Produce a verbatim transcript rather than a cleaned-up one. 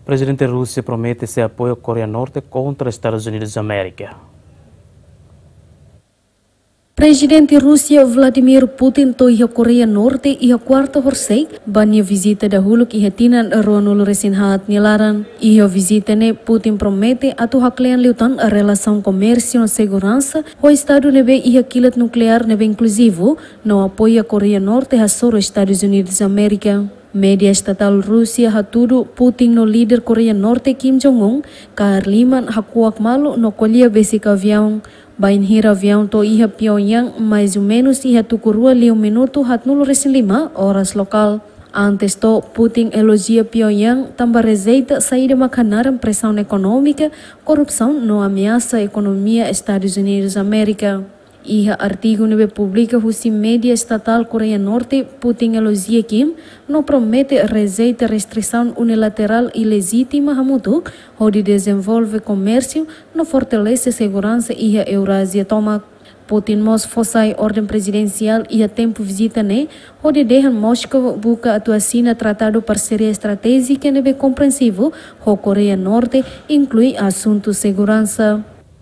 Prezidente Rúsia promete sei apoia Koreia Norte kontra Estadus Unidus Amérika. Prezidente Rúsia Vladimir Putin to'o iha Koreia Norte iha kuarta horisehik, ba nia vizita dahuluk iha tinan ruanulu-resin-haat nia laran. Iha vizita ne'e Putin promete atu haklean liután relasaun komérsiu no seguransa ho estadu ne'ebé iha kilat nukleár ne'ebé inkluzivu, no apoia Koreia Norte hasoru Estadus Unidus Amérika. Média estatál Rúsia hatudu Putin no líder Koreia Norte Kim Jong-un kaer liman hakuak malu no ko'alia besik aviaun. Bainhira aviaun to'o iha Pyongyang mais ou menus iha tuku rua liu minutu haatnulu-resin-lima oras lokál. Antes to'o, Putin elojia Pyongyang tanba rejeita saida mak hanaran presaun ekonómika, korrupsaun no ameasa ekonomia Estadus Unidus Amérika. Iha artigu ne'ebé publika husi média estatál Koreia Norte, Putin elojia Kim no promete rejeita restrisaun unilaterál ilejítima hamutuk hodi dezenvolve komérsiu no fortalese seguransa iha Eurázia tomak. Putin mós fó sai orden prezidensiál iha tempu vizita ne'e, hodi dehan Moskovu buka atu asina tratadu parseria estratéjika ne'ebé komprensivu ho Koreia Norte, inklui asuntu seguransa.